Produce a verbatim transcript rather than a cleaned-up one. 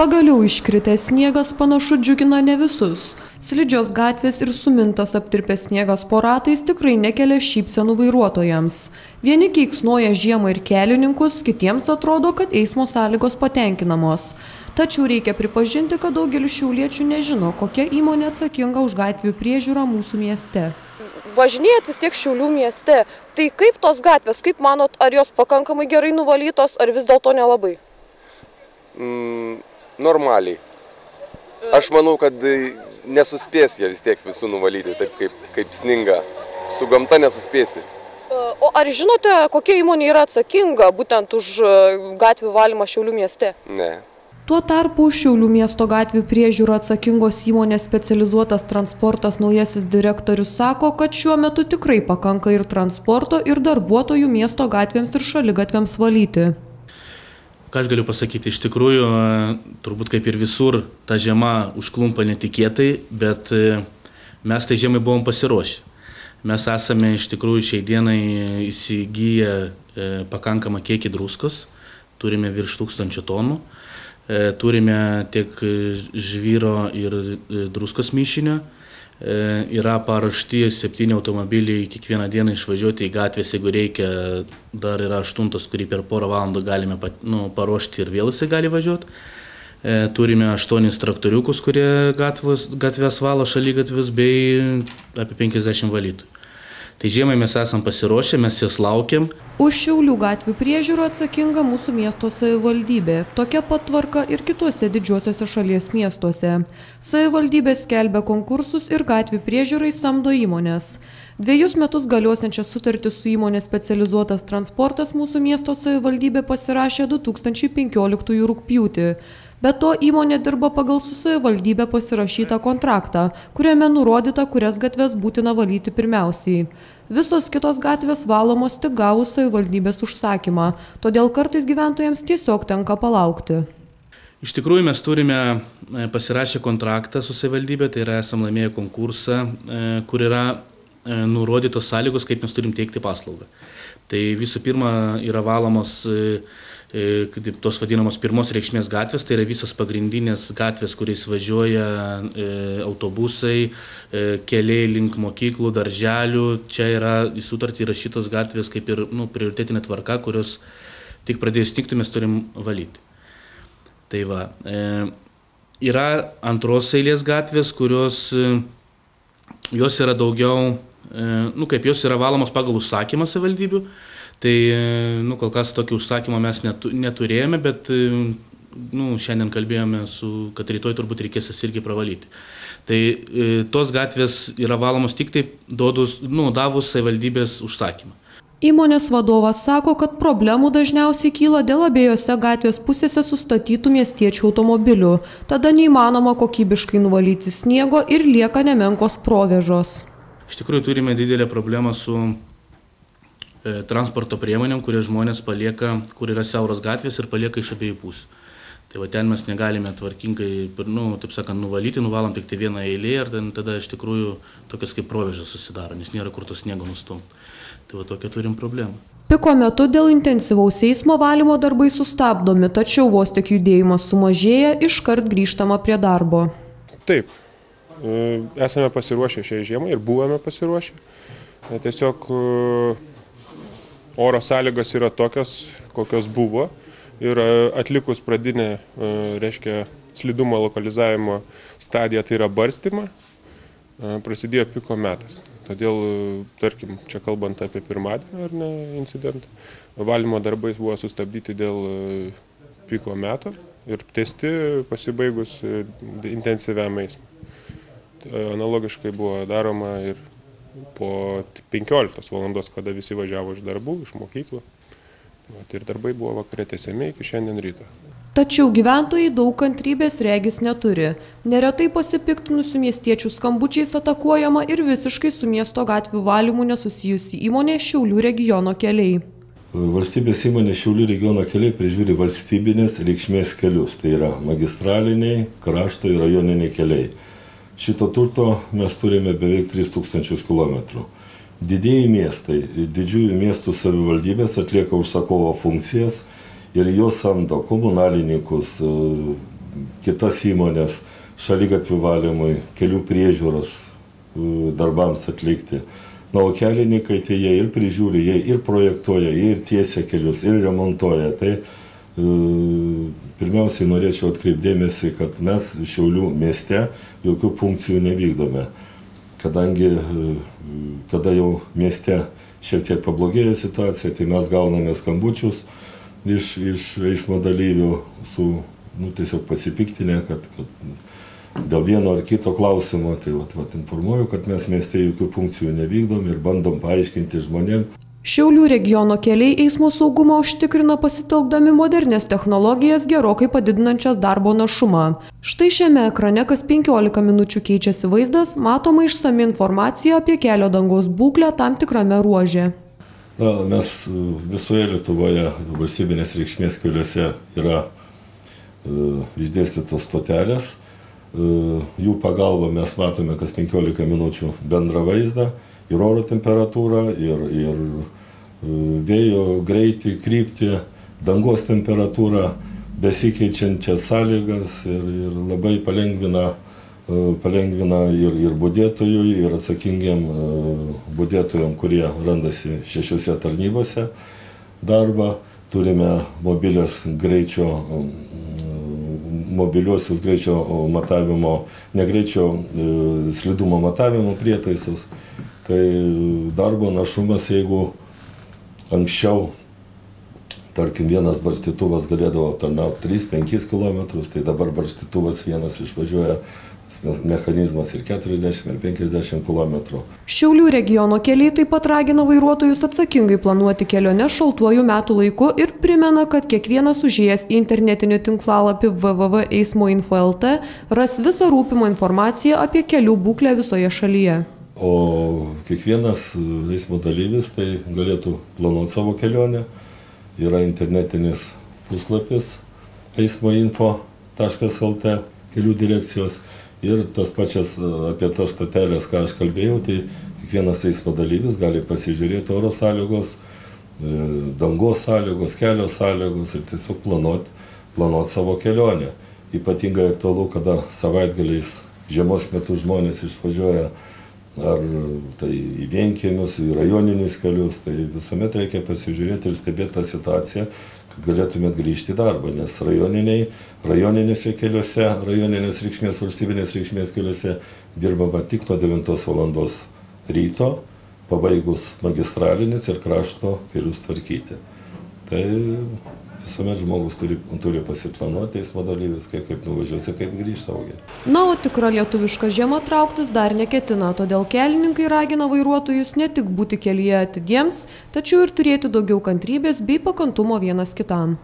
Pagaliau iškritęs sniegas panašu džiugina ne visus. Slidžios gatvės ir sumintas aptirpęs sniegas po ratais tikrai nekelia šypsenų vairuotojams. Vieni keiksnoja žiemą ir kelininkus, kitiems atrodo, kad eismo sąlygos patenkinamos. Tačiau reikia pripažinti, kad daugelis šiauliečių nežino, kokia įmonė atsakinga už gatvių priežiūrą mūsų mieste. Važinėjat vis tiek Šiaulių mieste. Tai kaip tos gatvės, kaip manot, ar jos pakankamai gerai nuvalytos, ar vis dėlto nelabai? Mm, normaliai. Aš manau, kad nesuspės jie vis tiek visų nuvalyti, taip kaip, kaip sninga. Su gamta nesuspėsi. O ar žinote, kokia įmonė yra atsakinga būtent už gatvių valymą Šiaulių mieste? Ne. Tuo tarpu Šiaulių miesto gatvių priežiūrą atsakingos įmonės Specializuotas transportas naujasis direktorius sako, kad šiuo metu tikrai pakanka ir transporto, ir darbuotojų miesto gatvėms ir šaligatviams valyti. Ką aš galiu pasakyti, iš tikrųjų, turbūt kaip ir visur, ta žiema užklumpa netikėtai, bet mes tai žiemai buvom pasiruošę. Mes esame iš tikrųjų šiai dienai įsigiję pakankamą kiekį druskos, turime virš tūkstančio tonų, turime tiek žvyro ir druskos mišinio, yra paruošti septyni automobiliai kiekvieną dieną išvažiuoti į gatvės, jeigu reikia, dar yra aštuntas, kurį per porą valandų galime nu, paruošti ir vėl jisai gali važiuoti. Turime aštuonis traktoriukus, kurie gatvės, gatvės valo šaligatvius, bei apie penkiasdešimt valytojų. Tai žiemai mes esam pasiruošę, mes jas laukiam. Už Šiaulių gatvių priežiūrą atsakinga mūsų miesto savivaldybė. Tokia pat tvarka ir kituose didžiuosiuose šalies miestuose. Savivaldybė skelbia konkursus ir gatvių priežiūrai samdo įmonės. Dviejus metus galiosiančią sutartį su įmonė Specializuotas transportas mūsų miesto savivaldybė pasirašė du tūkstančiai penkioliktųjų rugpjūtį. Be to įmonė dirba pagal su savivaldybė pasirašytą kontraktą, kuriame nurodyta, kurias gatves būtina valyti pirmiausiai. Visos kitos gatvės valomos tik gavus savivaldybės užsakymą, todėl kartais gyventojams tiesiog tenka palaukti. Iš tikrųjų mes turime pasirašę kontraktą su savivaldybė, tai yra esam laimėję konkursą, kur yra nurodytos sąlygos, kaip mes turim teikti paslaugą. Tai visų pirma yra valomos tos vadinamos pirmos reikšmės gatvės, tai yra visos pagrindinės gatvės, kuriais važiuoja autobusai, keliai link mokyklų, darželių. Čia yra į sutartį įrašytos gatvės kaip ir nu, prioritetinė tvarka, kurios tik pradėjus tikti mes turim valyti. Tai va, yra antros eilės gatvės, kurios jos yra daugiau, nu kaip jos yra valomos pagal užsakymą savivaldybių. Tai, nu, kol kas tokį užsakymą mes neturėjome, bet, nu, šiandien kalbėjome, su, kad rytoj turbūt reikės jas irgi pravalyti. Tai tos gatvės yra valomos tik taip, duodus, nu, davus savivaldybės užsakymą. Įmonės vadovas sako, kad problemų dažniausiai kyla dėl abiejose gatvės pusėse sustatytų miestiečių automobilių. Tada neįmanoma kokybiškai nuvalyti sniego ir lieka nemenkos provėžos. Iš tikrųjų turime didelę problemą su transporto priemonėm, kurie žmonės palieka, kur yra siauros gatvės ir palieka iš abiejų pusių. Tai va ten mes negalime tvarkingai, nu, taip sakant, nuvalyti, nuvalom tik tai vieną eilę ir tada iš tikrųjų tokias kaip provėžas susidaro, nes nėra kur to sniego nustumti. Tai va tokia turim problemą. Piko metu dėl intensyvaus eismo valymo darbai sustabdomi, tačiau vos tik judėjimas sumažėja, iškart grįžtama prie darbo. Taip, esame pasiruošę šiai žiemai ir buvome pasiruošę. Tiesiog oro sąlygos yra tokios, kokios buvo ir atlikus pradinę, reiškia, slidumo lokalizavimo stadiją, tai yra barstymą, prasidėjo piko metas. Todėl, tarkim, čia kalbant apie pirmadienį ar ne incidentą, valymo darbai buvo sustabdyti dėl piko meto ir tęsti pasibaigus intensyviam eismui. Analogiškai buvo daroma ir po penkioliktos valandos, kada visi važiavo iš darbų, iš mokyklų. Ir darbai buvo vakare tęsiami iki šiandien ryto. Tačiau gyventojai daug kantrybės regis neturi. Neretai pasipiktinusių miestiečių skambučiais atakuojama ir visiškai su miesto gatvių valymu nesusijusi įmonė Šiaulių regiono keliai. Valstybės įmonė Šiaulių regiono keliai prižiūri valstybinės reikšmės kelius. Tai yra magistraliniai, krašto ir rajoniniai keliai. Šito turto mes turime beveik tris tūkstančius kilometrų. Didieji miestai, didžiųjų miestų savivaldybės atlieka užsakovo funkcijas ir jos samdo komunalininkus, kitas įmonės šaligatvių valymui, kelių priežiūros darbams atlikti. Na, o kelininkai tai jie ir prižiūri, jie ir projektuoja, jie ir tiesia kelius, ir remontuoja. Tai pirmiausiai norėčiau atkreipdėmėsi, kad mes Šiaulių mieste jokių funkcijų nevykdome. Kadangi, kada jau mieste šiek tiek pablogėjo situacija, tai mes gauname skambučius iš, iš eismo dalyvių su, nu, tiesiog pasipiktinę, kad, kad dėl vieno ar kito klausimo, tai vat, vat, informuoju, kad mes mieste jokių funkcijų nevykdom ir bandom paaiškinti žmonėm. Šiaulių regiono keliai eismo saugumą užtikrina pasitelkdami modernės technologijas, gerokai padidinančias darbo našumą. Štai šiame ekrane kas penkiolika minučių keičiasi vaizdas, matoma išsami informacija apie kelio dangos būklę tam tikrame ruože. Na, mes visoje Lietuvoje valstybinės reikšmės keliuose yra uh, išdėstytos stotelės. Uh, jų pagalba mes matome kas penkiolika minučių bendrą vaizdą. Ir oro temperatūrą, ir, ir vėjo greitį, kryptį, dangos temperatūrą, besikeičiančias sąlygas ir, ir labai palengvina, palengvina ir, ir budėtojui, ir atsakingiam budėtojam, kurie randasi šešiose tarnybose darbą. Turime mobilias greičio, mobiliuosius greičio matavimo, ne greičio slidumo matavimo prietaisus. Tai darbo našumas, jeigu anksčiau, tarkim, vienas barstytuvas galėdavo aptarnauti tris penkis kilometrus, tai dabar barstytuvas vienas išvažiuoja mechanizmas ir keturiasdešimt ir penkiasdešimt kilometrų. Šiaulių regiono keliai taip pat ragina vairuotojus atsakingai planuoti keliones šaltuoju metų laiku ir primena, kad kiekvienas užėjęs į internetinį tinklalapį w w w taškas eismo info taškas l t ras visą rūpimą informaciją apie kelių būklę visoje šalyje. O kiekvienas eismo dalyvis tai galėtų planuoti savo kelionę. Yra internetinis puslapis eismo info taškas l t kelių direkcijos ir tas pačias apie tas stoteles, ką aš kalbėjau, tai kiekvienas eismo dalyvis gali pasižiūrėti oro sąlygos, dangos sąlygos, kelio sąlygos ir tiesiog planuoti, planuoti savo kelionę. Ypatingai aktualu, kada savaitgaliais žiemos metu žmonės išvažiuoja ar tai į vienkiemius, į rajoninius kelius, tai visuomet reikia pasižiūrėti ir stebėti tą situaciją, kad galėtumėt grįžti į darbą, nes rajoniniai, rajoninėse keliuose, rajoninės reikšmės, valstybinės reikšmės keliuose dirbama tik nuo devintos valandos ryto, pabaigus magistralinis ir krašto kelius tvarkyti. Tai visuomet žmogus turi, turi pasiplanuoti eismo dalyvis, kaip, kaip nuvažiuosi, kaip grįžti saugiai. Na, o tikra lietuviška žiema trauktis dar neketina, todėl kelininkai ragina vairuotojus ne tik būti kelyje atidiems, tačiau ir turėti daugiau kantrybės bei pakantumo vienas kitam.